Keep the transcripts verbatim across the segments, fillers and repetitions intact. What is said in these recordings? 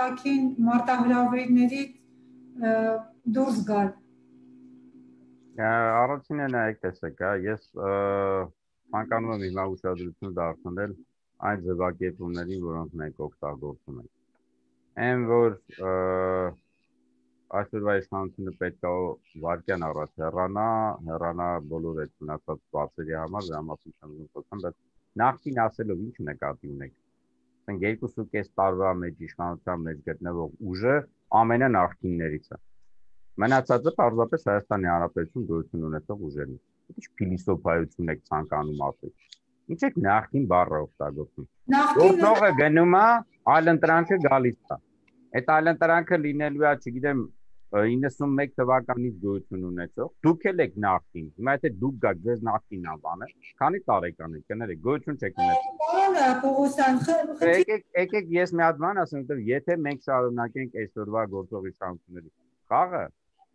արտաքին մարտահրավերների դուրս գալ։ Առաջինը նայեք տեսեք, ես ցանկանում եմ հիմա ուշադրություն դարձնել այն ձևակերպումներին, որոնք մենք օգտագործում ենք։ Այն որ այսօրվա իշխանությունը պետք է վարկյան առաջ հեռանա, հեռանա բոլոր այդ մնացած բացերի համար, դրա մասին չեմ խոսում, բայց նախքին ասելով ինչ նկատի ունեք։ Ասենք երկուսուկես տարվա մեջ իշխանության մեջ գտնվող ուժը ամենանախքիններից է։ Մնացածը պարզապես Հայաստանի Հանրապետություն գոյություն ունեցող ուժերն են։ Ինչ փիլիսոփայություն եք ցանկանում ասել։ Ինչ եք նախքին բառը օգտագործում։ Գործողը գնում է, այլընտրանքը գալիս է։ Այդ այլընտրանքը լինելու է, չգիտեմ, իննսունմեկ թվականից գոյություն ունեցող, դուք էլ եք նախքին, հիմա եթե դուք գաք, ձեզ նախքին անվանը, քանի տարեկան եք, կներեք, գոյություն չեք ունեցել։ Եկեք ես մի հատ բան ասեմ, որտեղ եթե մենք շարունակենք այսօրվա գործող իշխանությունների խաղը,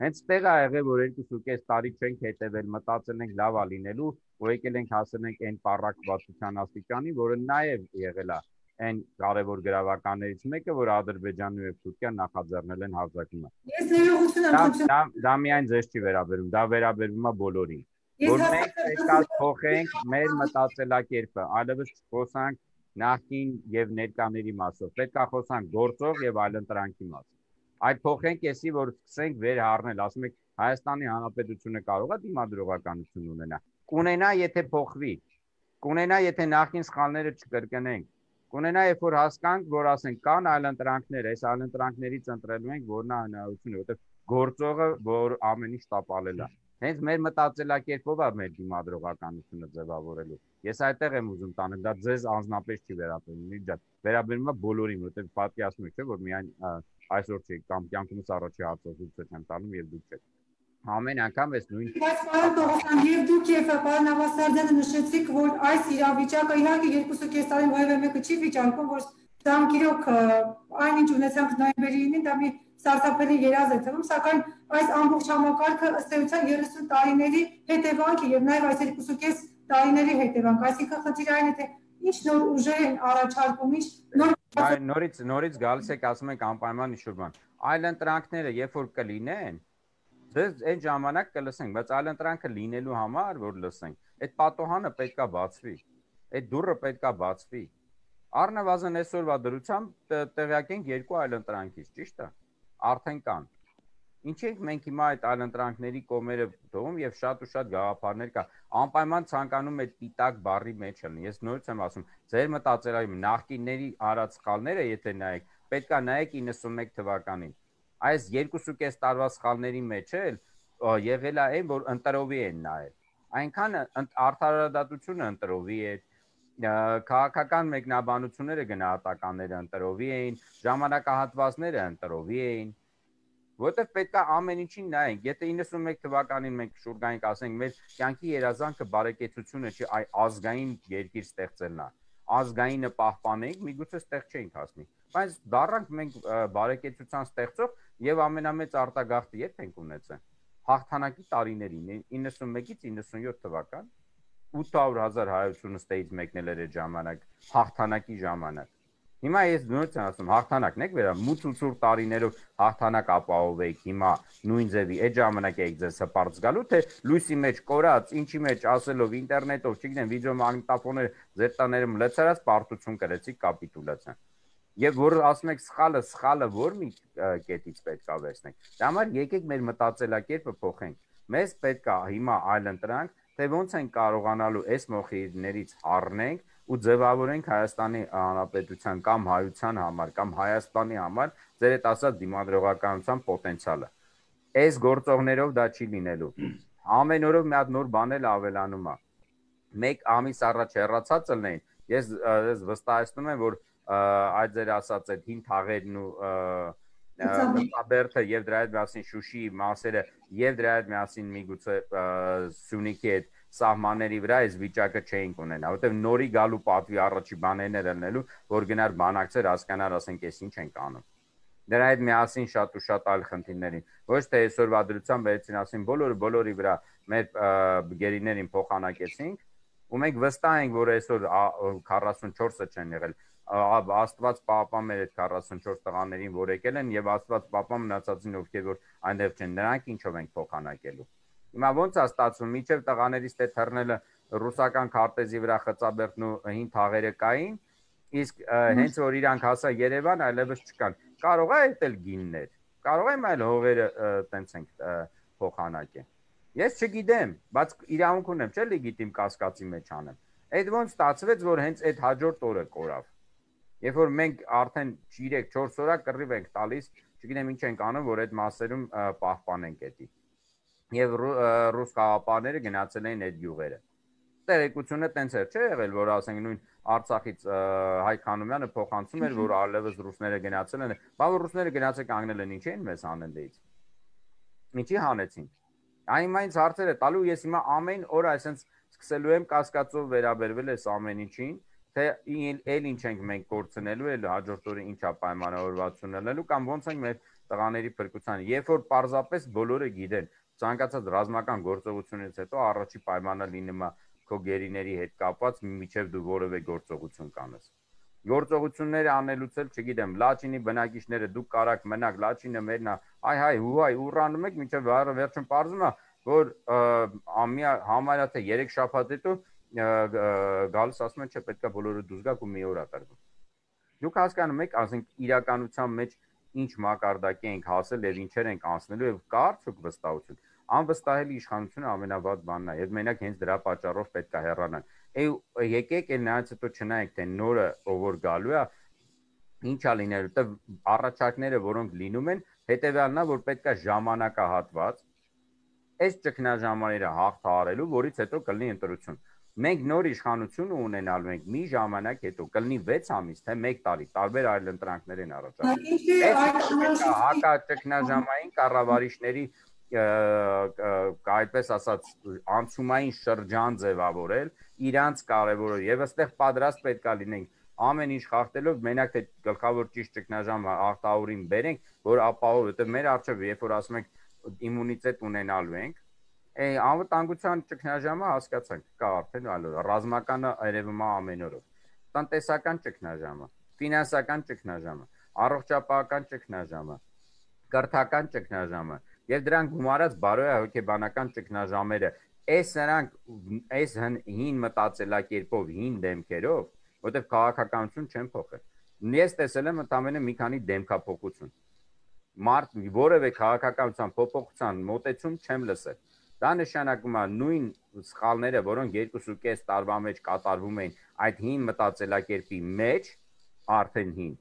հենց տեղ է եղել, որ երկուսուկես տարի չենք հետևել, մտածել ենք լավ է լինելու, ու եկել ենք հասել ենք այն պառակվածության աստիճանի, որը նաև եղել է այն կարևոր գրավականներից մեկը, որ Ադրբեջանն ու Թուրքիան նախաձեռնել են հարձակումը։ Ես ներողություն եմ խնդրում։ Դա միայն ձեզ չի վերաբերում, դա վերաբերում է բոլորին։ Որ մենք պետք է փոխենք մեր մտածելակերպը, այլևս չխոսանք նախկին եւ ներկաների մասով, պետք է խոսանք գործող եւ այլընտրանքի մասով։ Այդ փոխենք էսի, որ սկսենք վեր հառնել, ասում եք Հայաստանի Հանրապետությունը կարող է դիմադրողականություն ունենա։ Կունենա, եթե փոխվի։ Կունենա, եթե նախկին սխալները չկրկնենք։ Կունենա, երբ որ հասկանք, որ ասենք կան այլընտրանքներ, այս այլընտրանքներից ընտրելու ենք, որն է հնարավորությունը, որտեղ գործողը, որ ամեն ինչ տապալել է։ Հենց մեր մտածելակերպով է մեր դիմադրողականությունը ձևավորելու։ Ես այդտեղ եմ ուզում տանել, դա ձեզ անձնապես չի վերաբերում, իջա, վերաբերում է բոլորին, որտեղ պատկերացնում եք, չէ՞, որ միայն այսօր չի կամ կյանքումս առաջի հարցազրույցը չեմ տանում եւ դուք չեք։ Ամեն անգամ էս նույն։ Բայց պարոն Տողոսյան, եւ դուք եւ պարոն Նավասարդյանը նշեցիք, որ այս իրավիճակը իհարկե երկուսուկես տարին որևէ մեկը չի վիճարկում, որ դրանք իրոք այնինչ ունեցանք նոյեմբերի ինին, դա մի սարսափելի երազ է թվում, սակայն այս ամբողջ համակարգը ըստ էության երեսուն տարիների հետևանք է եւ նաեւ այս երկուսուկես տարիների հետևանք, այսինքն խնդիրը այն է, թե ինչ նոր ուժեր են առաջարկում, ինչ նոր նորից նորից գալիս եք ասում եք անպայման ինչ-որ բան։ Այլընտրանքները երբ որ կլինեն, ձեզ այն ժամանակ կլսենք, բայց այլընտրանքը լինելու համար, որ լսենք, այդ պատոհանը պետքա բացվի։ Այդ դուռը պետքա բացվի։ Առնվազն այսօրվա դրությամբ տեղյակ ենք երկու այլընտրանքից, ճիշտ է։ Արդեն կան։ Ինչ ենք մենք հիմա այդ այլընտրանքների կողմերը թողում եւ շատ ու շատ գաղափարներ կա։ Անպայման ցանկանում այդ պիտակ բառի մեջ լինի։ Ես նորից եմ ասում, ձեր մտածելակերպը նախկինների արած սխալները, եթե նայեք, պետքա նայեք իննսունմեկ թվականին։ Այս երկուսուկես տարվա սխալների մեջ էլ եղել է այն, որ ընտրովի են նայել։ Այնքան արդարադատությունը ընտրովի է, քաղաքական մեկնաբանությունները գնահատականները ընտրովի էին, ժամանակահատվածները ընտրովի էին, որտեղ պետք է ամեն ինչին նայենք։ Եթե իննսունմեկ թվականին մենք շուրգայինք ասենք, մեր կյանքի երազանքը բարեկեցությունը չի, այ ազգային երկիր ստեղծելն է, ազգայինը պահպանենք, միգուցե ստեղ չենք հասնի, բայց դառնանք մենք բարեկեցության ստեղծող եւ ամենամեծ արտագաղթը երբ ենք ունեցել։ Հաղթանակի տարիներին իննսունմեկից իննսունյոթ թվական ութ հարյուր հազար հայությունը ստեից մեկնել էր այդ ժամանակ, հաղթանակի ժամանակ։ Հիմա ես նույնց եմ ասում, հաղթանակն եք վերա, մութ ու ցուրտ տարիներով հաղթանակ ապահովեիք, հիմա նույն ձևի այդ ժամանակ եք ձեզ հպարտ զգալու, թե լույսի մեջ կորած, ինչի մեջ ասելով, ինտերնետով, չգիտեմ, վիդեոմագնիտոֆոնները ձեր տաներում լցրած պարտություն կրեցիք կապիտուլյացիա։ Եվ որ ասում եք սխալը, սխալը որ մի կետից պետք է վերցնենք։ Դա համար եկեք մեր մտածելակերպը փոխենք։ Մեզ պետք է հիմա այլընտրանք, թե ոնց են կարողանալու այս մոխիրներից առնենք ու ձևավորենք Հայաստանի Հանրապետության կամ հայության համար կամ Հայաստանի համար ձեր այդ ասած դիմադրողականության պոտենցիալը։ Այս գործողներով դա չի լինելու։ Ամեն օրով մի հատ նոր բան էլ ավելանում է։ Մեկ ամիս առաջ հեռացած ելնեին, ես վստահեցնում եմ, որ այդ ձեր ասած այդ հին թաղերն ու Մծաբերդը եւ դրա հետ միասին Շուշիի մասերը եւ դրա հետ միասին միգուցե Սյունիքի այդ սահմանների վրա այս վիճակը չէինք ունենա, որտեվ նորի գալու պատվի առաջի բաներն էր ելնելու, որ գնար բանակցեր, հասկանար, ասենք, էս ինչ ենք անում։ Դրա հետ միասին շատ ու շատ այլ խնդիրներին, ոչ թե այսօրվա դրությամբ վերցին ասին բոլորը բոլորի վրա մեր գերիներին փոխանակեցինք, ու մենք վստահ ենք, որ այսօր քառասունչորսը չեն եղել, Աստված պահպան մեր այդ քառասունչորս տղաներին, որ եկել են, եւ Աստված պահպան մնացածին, ովքեր որ այնտեղ չեն, նրանք ինչով ենք փոխանակելու։ Հիմա ոնց է ստացվում, միջև տղաներից թե թռնելը ռուսական քարտեզի վրա խծաբերդն ու հին թաղերը կային, իսկ հենց որ իրանք հասա Երևան, այլևս չկան։ Կարող է այդել գիններ, կարող եմ այլ հողերը տենց ենք փոխանակել։ Ես չգիտեմ, բայց իրավունք ունեմ, չէ՞ լեգիտիմ կասկածի մեջ անեմ։ Այդ ոնց ստացվեց, որ հենց այդ հաջորդ օրը կորավ։ Երբ որ մենք արդեն երեք չորս օր կռիվ ենք տալիս, չգիտեմ ինչ ենք անում, որ այդ մասերում պահպանենք էդի։ Եվ ռուս խաղապարները գնացել էին այդ գյուղերը։ Տեղեկությունը տենց էր, չէ՞ եղել, որ ասենք նույն Արցախից Հայկ Խանոմյանը փոխանցում էր, որ այլևս ռուսները գնացել են, բա որ ռուսները գնացել կանգնել են, ինչ էին մեզ հանել դից։ Ինչի հանեցին։ Այնինչ հարցերը տալու ես հիմա ամեն օր այսպես սկսելու եմ կասկածով վերաբերվել այս ամեն ինչին, թե էլ ինչ ենք մենք կորցնելու, էլ հաջորդ օրը ինչա պայմանավորվածություն ունենալու կամ ոնց ենք մեր տղաների փրկության։ Երբ որ պարզապես բոլորը գիտեն, ցանկացած ռազմական գործողությունից հետո առաջի պայմանը լինում է քո գերիների հետ կապված, միջև դու որևէ գործողություն կանես։ Գործողությունները անելուց էլ, չգիտեմ, Լաչինի բնակիչները դուք կարաք մնաք, Լաչինը մերնա, այ հայ հուհայ ուռանում եք, մինչև վերջում պարզվում է, որ ամիա համարյա թե երեք շաբաթ հետո գալիս ասում են, չէ, պետքա բոլորը դուրս գաք ու մի օր ատարկվի։ Դուք հասկանում եք, ասենք իրականության մեջ ինչ մակարդակի ենք հասել եւ ինչեր ենք անցնելու եւ կա արդյոք վստահություն։ Անվստահելի իշխանությունը ամենավատ բանն է եւ մենակ հենց դրա պատճառով պետքա հեռանան։ Այ եկեք այն նրանց հետո չնայեք թե նորը ով որ գալու է ինչա լինելու, դե առաջարկները որոնք լինում են, հետեւյալն է, որ պետքա ժամանակահատված այս ճգնաժամերը հաղթահարելու, որից հետո կլինի ընտրություն։ Մենք նոր իշխանություն ունենալու ենք մի ժամանակ հետո, կլինի վեց ամիս, թե մեկ տարի, տարբեր այլ ընտրանքներ են առաջարկվում։ Հակաճգնաժամային կառավարիչների այդպես ասած անցումային շրջան ձևավորել, իրանց կարևորը եւ այստեղ պատրաստ պետքա լինենք ամեն ինչ խախտելով, մենակ թե գլխավոր ճիշտ ճգնաժամ հաղթահարին բերենք, որ ապահով, որտեղ մեր արժեվ, երբ որ ասում ենք իմունիտետ ունենալու ենք, անվտանգության ճգնաժամը հասկացանք, կա արդեն այլ ռազմականը երևում է ամեն օրով, տնտեսական ճգնաժամը, ֆինանսական ճգնաժամը, առողջապահական ճգնաժամը, կրթական ճգնաժամը եւ դրան գումարած բարոյահոգեբանական ճգնաժամերը, այս նրանք այս հին մտածելակերպով, հին դեմքերով, որտեղ քաղաքականություն չեն փոխել։ Ես տեսել եմ ընդամենը մի քանի դեմքափոխություն։ Մարդ որևէ քաղաքականության փոփոխության մոտեցում չեմ լսել։ Դա նշանակում է նույն սխալները, որոնք երկուսուկես տարվա մեջ կատարվում էին այդ հին մտածելակերպի մեջ, արդեն հին,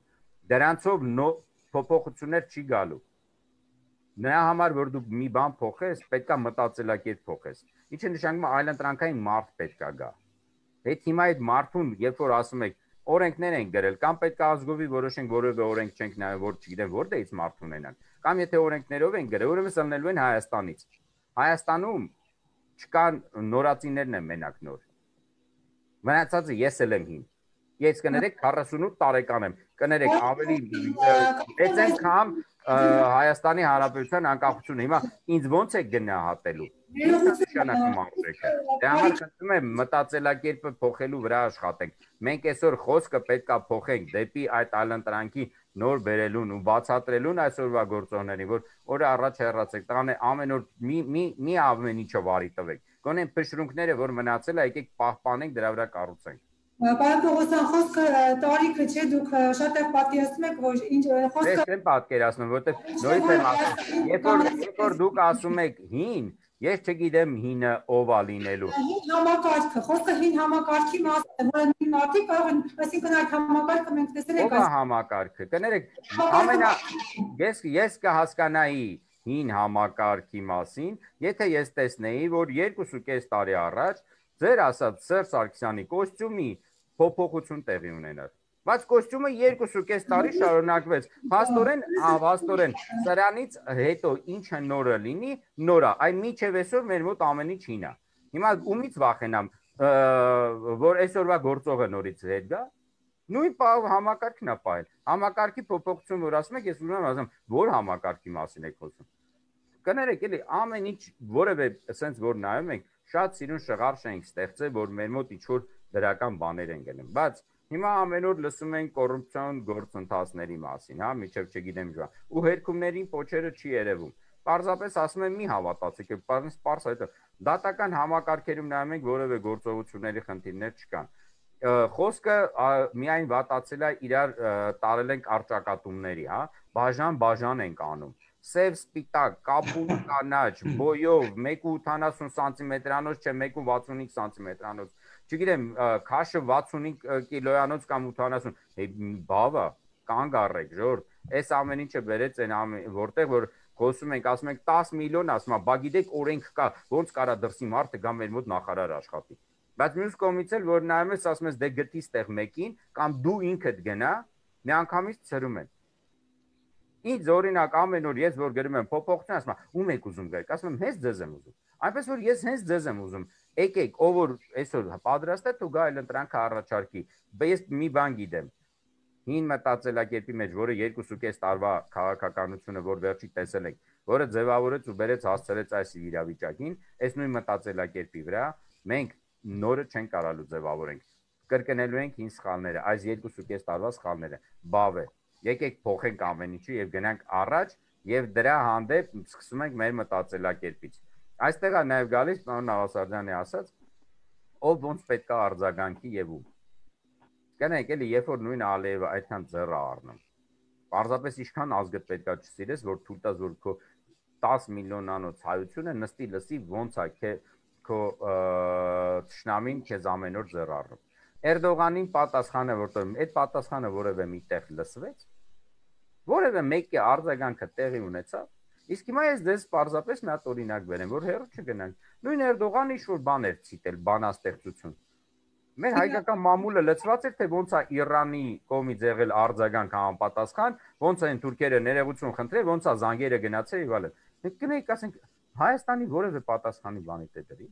դրանցով փոփոխություններ չի գալու։ Նրա համար, որ դու մի բան փոխես, պետքա մտածելակերպ փոխես։ Ինչը նշանակում է այլընտրանքային մարդ պետքա գա։ Հետ հիմա այդ մարդուն, երբ որ ասում եք, օրենքներ են գրել, կամ պետքա ազգովի որոշենք, որևէ օրենք չենք նայել, որ չգիտեմ որտեղից մարդ ունենան, կամ եթե օրենքներով են գրել, ուրեմն ելնելու են Հայաստանից։ Հայաստանում չկան նորածիներն են մենակ նոր։ Մնացածը ես էլ եմ հին։ Ես կներեք քառասունութ տարեկան եմ, կներեք ավելի մեծ եմ, քան Հայաստանի Հանրապետության անկախությունը։ Հիմա ինձ ոնց է գնահատելու։ Նշանակում ամրեքը։ Դե համար խնդրում եմ մտածելակերպը փոխելու վրա աշխատենք։ Մենք այսօր խոսքը պետքա փոխենք դեպի այդ այլընտրանքի նոր բերելուն ու բացատրելուն այսօրվա գործողներին, որ օրը առաջ հեռացեք, տանը ամեն օր մի մի մի ամեն ինչը վարի տվեք։ Գոնե փշրունքները, որ մնացել է, եկեք պահպանենք, դրա վրա կառուցենք։ Պարոն Պողոսյան, խոսքը տարիքը չէ, դուք շատ է պատկերացնում եք, որ ինչ խոսքը Ես չեմ պատկերացնում, որովհետև նորից եմ ասում, երբ որ երբ որ դուք ասում եք հին, ես չգիտեմ հինը ով է լինելու։ Հին համակարգը, խոսքը հին համակարգի մասին է, որը նույն մարդիկ կարող են, այսինքն այդ համակարգը մենք տեսել ենք Ո՞վ է համակարգը։ Կներեք, ամենա ես ես կհասկանայի հին համակարգի մասին, եթե ես տեսնեի, որ երկուսուկես տարի առաջ ձեր ասած Սերժ Սարգսյանի կոստյումի փոփոխություն տեղի ունենար։ Բայց կոստյումը երկուսուկես տարի շարունակվեց։ Փաստորեն, փաստորեն, սրանից հետո ինչը նորը լինի, նորա։ Այն միջև այսօր մեր մոտ ամեն ինչ հին է։ Հիմա ումից վախենամ, որ այսօրվա գործողը նորից հետ գա։ Նույն համակարգն է պահել։ Համակարգի փոփոխություն, որ ասում եք, ես ուզում եմ ասեմ, որ համակարգի մասին եք խոսում։ Կներեք, էլի ամեն ինչ որևէ sense որ նայում ենք, շատ սիրուն շղարշ ենք ստեղծել, որ մեր մոտ ինչ որ դրական բաներ են գնում, բայց Հիմա ամեն օր լսում ենք կոռուպցիոն գործընթացների մասին, հա, միջև չգիտեմ ինչ, ու հերքումներին փոչերը չի երևում։ Պարզապես ասում եմ մի հավատացիք, պարզ պարզ այդ դատական համակարգերում նայում ենք որևէ գործողությունների խնդիրներ չկան։ Խոսքը միայն վատացել է իրար տարել ենք արճակատումների, հա, բաժան բաժան ենք անում։ Սև սպիտակ, կապույտ կանաչ, բոյով, մեկ ու ութանասուն սանտիմետրանոց, չէ, մեկ ու վաթսունհինգ սանտիմետրանոց, չգիտեմ, քաշը վաթսունհինգ կիլոյանոց կամ ութանասուն, բավա, կանգ առեք, ժողովուրդ, այս ամեն ինչը բերեց այն որտեղ որ խոսում ենք, ասում ենք տասը միլիոն, ասում եմ, բա գիտեք օրենք կա, ոնց կարա դրսի մարդը գա մեր մոտ նախարար աշխատի։ Բայց մյուս կողմից էլ որ նայում ես, ասում ես դե գտի ստեղ մեկին, կամ դու ինքդ գնա, միանգամից ծրում են։ Ինձ օրինակ ամեն օր ես որ գրում եմ փոփոխություն, ասում եմ, ում եք ուզում գայք, ասում եմ, հենց ձեզ եմ ուզում։ Այնպես որ ես հենց ձեզ եմ ուզում։ Եկեք, ով որ այսօր պատրաստ է, դու գա այլ ընտրանքը առաջարկի։ Բայց ես մի բան գիտեմ։ Հին մտածելակերպի մեջ, որը երկուսուկես տարվա քաղաքականությունը, որ վերջի տեսել ենք, որը ձևավորեց ու բերեց հասցրեց այս իրավիճակին, այս նույն մտածելակերպի վրա մենք նորը չենք կարալու ձևավորենք։ Կրկնելու ենք հին սխալները, այս երկուսուկես տարվա սխալները։ Բավ է։ Եկեք փոխենք ամեն ինչը եւ գնանք առաջ եւ դրա հանդեպ սկսում ենք մեր մտածելակերպից։ Այստեղ է նաեւ գալիս պարոն Նավասարդյանի ասած, ով ոնց պետք է արձագանքի եւ ում։ Գնանք էլի, երբ որ նույն Ալիևը այդքան ձեռը առնում։ Պարզապես ինչքան ազգը պետքա չսիրես, որ թույլ տաս որ քո տասը միլիոնանոց հայությունը նստի լսի ոնց է քո թշնամին քեզ ամեն օր ձեռ առնում։ Էրդողանին պատասխանը որտեղ այդ պատասխանը որևէ միտեղ լսվեց, որևէ մեկի արձագանքը տեղի ունեցավ։ Իսկ հիմա ես դες պարզապես մի հատ օրինակ բերեմ, որ հերո չգնանք։ Նույն Էրդողանը ինչ-որ բան էր ցիտել, բանաստեղծություն։ Մեր հայկական մամուլը լծված էր, թե ոնց է Իրանի կողմից եղել արձագանք համապատասխան, ոնց են թուրքերը ներողություն խնդրել, ոնց է զանգերը գնացել եւ այլն։ Մենք կնենք ասենք Հայաստանի որևէ պատասխանի բանի դե դրի։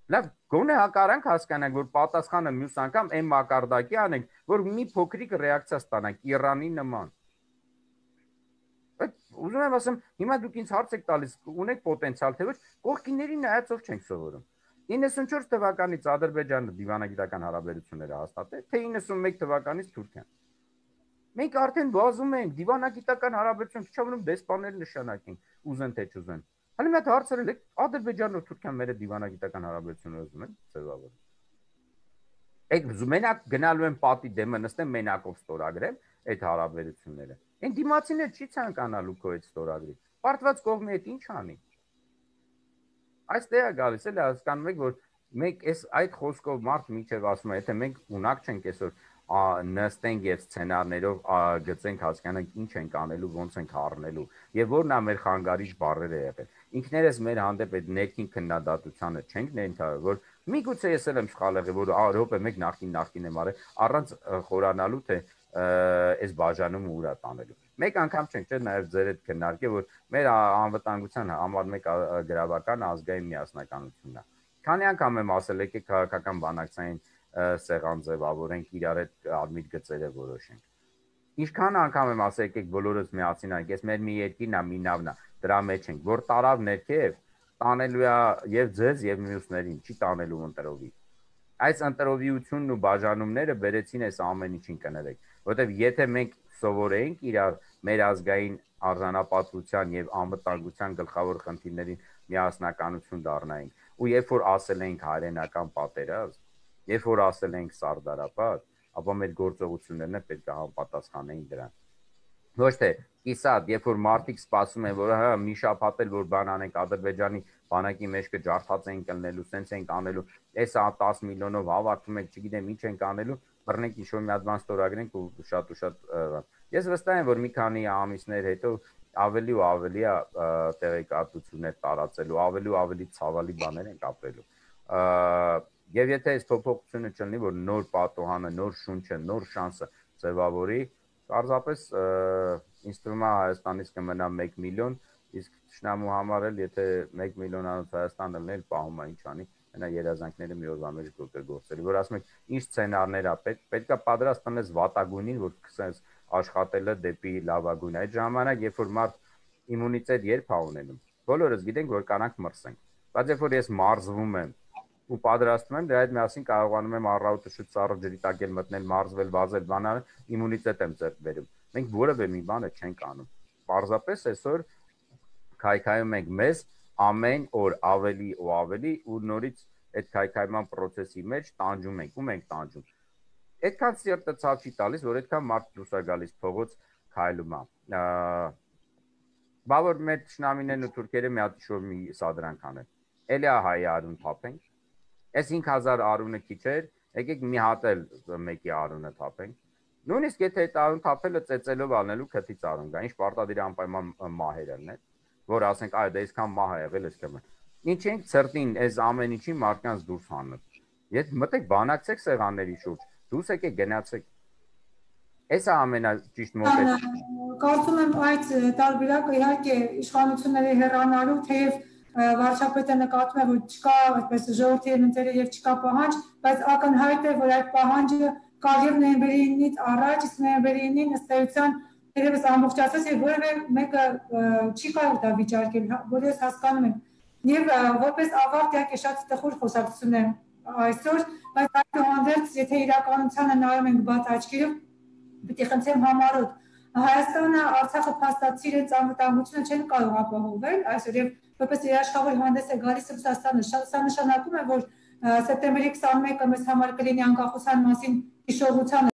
Լավ, գոնե հակարանք հասկանանք, որ պատասխանը մյուս անգամ այն մակարդակի անենք, որ մի փոքրիկ ռեակցիա ստանանք Իրանի նման։ Ուզում եմ ասեմ, հիմա դուք ինձ հարց եք տալիս, ունեք պոտենցիալ, թե ոչ, կողքիների նայածով չենք սովորում։ իննսունչորս թվականից Ադրբեջանը դիվանագիտական հարաբերություններ է հաստատել, թե իննսունմեկ թվականից Թուրքիան։ Մենք արդեն բազում ենք դիվանագիտական հարաբերություն, չչավնում դեսպաներ նշանակենք, ուզեն թե չուզեն։ Հələ մի հատ հարցրել եք, Ադրբեջանն ու Թուրքիան մեր դիվանագիտական հարաբերություններ ուզում են ձևավորել։ Եք մենակ գնալու են պատի դեմը նստեն մենակով ստորագրել այդ հարաբերությունները։ Այն դիմացիները չի ցանկանալու քո այդ ստորագրի։ Պարտված կողմի հետ ինչ անի։ Այստեղ է գալիս էլ հասկանում եք, որ մենք այս այդ խոսքով մարդ միջև ասում է, եթե մենք ունակ չենք այսօր նստենք եւ սցենարներով գծենք հասկանանք ինչ ենք անելու, ոնց ենք առնելու եւ որն է մեր խանգարիչ բառերը եղել։ Ինքներս մեր հանդեպ այդ ներքին քննադատությանը չենք ներընթարել, որ միգուցե ես էլ եմ սխալ եղել, որ Եվրոպա մեկ նախքին նախքին եմ արել, առանց խորանալու թե այս բաժանումը ուրա տանելու։ Մեկ անգամ չենք, չէ՞, նաև ձեր հետ քննարկել, որ մեր անվտանգության համար մեկ գրավական ազգային միասնականությունն է։ Քանի անգամ եմ ասել, եկեք քաղաքական բանակցային սեղան ձևավորենք, իրար հետ ադմիտ գծերը որոշենք։ Ինչքան անգամ եմ ասել, եկեք բոլորս միացինանք, ես մեր մի երկիրն է, մի նավն է, դրա մեջ ենք, որ տարավ ներքև տանելու է եւ ձեզ եւ մյուսներին, չի տանելու ընտրովի։ Այս ընտրովիությունն ու բաժանումները բերեցին այս ամեն ինչին կներեք, որովհետեւ եթե մենք սովորեինք իրար մեր ազգային արժանապատվության եւ անվտանգության գլխավոր խնդիրներին միասնականություն դառնայինք, ու երբ որ ասել ենք հայրենական պատերազմ, երբ որ ասել ենք Սարդարապատ, ապա մեր գործողություններն պետք է համապատասխանեին դրան։ Ոչ թե կիսատ, երբ որ մարդիկ սպասում են, որ հա մի շաբաթ էլ որ բան անենք Ադրբեջանի բանակի մեջքը ջարդած են կլնելու, սենց են անելու, այս տասը միլիոնով հավաքվում եք, չգիտեմ ինչ են անելու, բռնենք ինչ-որ մի հատ բան ստորագրենք ու շատ ու շատ ես վստահ եմ, որ մի քանի ամիսներ հետո ավելի ու ավելի է տեղեկատվություններ տարածելու, ավելի ու ավելի ցավալի բաներ են ապրելու։ Եվ եթե այս փոփոխությունը չլինի, որ նոր պատոհանը, նոր շունչը, նոր շանսը ձևավորի, պարզապես ինձ թվում է Հայաստանից կմնա մեկ միլիոն, իսկ թշնամու համար էլ եթե մեկ միլիոնանոց Հայաստանը լինել, պահում է ինչ անի, այնա երազանքները մի օրվա մեջ գործելու, որ ասում եք, ինչ սցենարներ է պետք, պետք է պատրաստ տնես վատագույնին, որ սկսես աշխատելը դեպի լավագույն։ Այդ ժամանակ, երբ որ մարդ իմունիտետ երբ է ունենում, բոլորս գիտենք, որ կանանք մրսենք, բայց երբ որ ես մարզվում եմ ու պատրաստում եմ, դրա հետ միասին կարողանում եմ առավոտը շուտ ծառը ջրի տակ էլ մտնել, մարզվել, վազել, բանալ, իմունիտետ եմ ձեռք բերում։ Մենք որևէ մի բան չենք անում։ Պարզապես այսօր քայքայում ենք մեզ ամեն օր ավելի ու ավելի ու նորից այդ քայքայման process-ի մեջ տանջում ենք, ում ենք տանջում։ Այդքան սիրտը ցավ չի տալիս, որ այդքան մարդ դուրս է գալիս փողոց քայլում է։ Բա որ մեր ճշնամիներն ու թուրքերը մի հատ շոր մի սադրանք անեն։ Էլի է հայ արուն թափենք։ Այս հինգ հազար արունը քիչ էր, եկեք մի հատ էլ մեկի արունը թափենք։ Նույնիսկ եթե այդ արուն թափելը ծեծելով անելու քթից արուն գա, ինչ պարտադիր անպայման մահերն են, որ ասենք այ դա այսքան մահ է եղել, այսքան։ Ինչ ենք ցրտին այս ամեն ինչի մարդկանց դուրս հանում։ Եթե մտեք բանակցեք սեղանների շուրջ, դուրս եկեք գնացեք։ Էսա ամենաճիշտ մոտեցումը։ Կարծում եմ այդ տարբերակը իհարկե իշխանությունների հեռանալու, թեև վարչապետը նկատում է, որ չկա այդպես ժողովրդի ընտրել եւ չկա պահանջ, բայց ակնհայտ է, որ այդ պահանջը կա եւ նոյեմբերի իննից առաջ, իսկ նոյեմբերի ինին ըստ էության երևս ամբողջացած եւ որևէ մեկը չի կարող դա վիճարկել, որպես հասկանում եմ։ Եվ որպես ավարտ իհարկե շատ տխուր խոսակցություն է այսօր, բայց այդուհանդերձ եթե իրականությանը նայում ենք բաց աչքերով, պիտի խնդրեմ համառոտ Հայաստանը, Արցախը փաստացի իրենց անվտանգությունը չեն կարող ապահովել այսօր եւ որպես երաշխավոր հանդես է գալիս Ռուսաստանը, սա նշանակում է, որ սեպտեմբերի քսանմեկը մեզ համար կլինի անկախության մասին հիշողության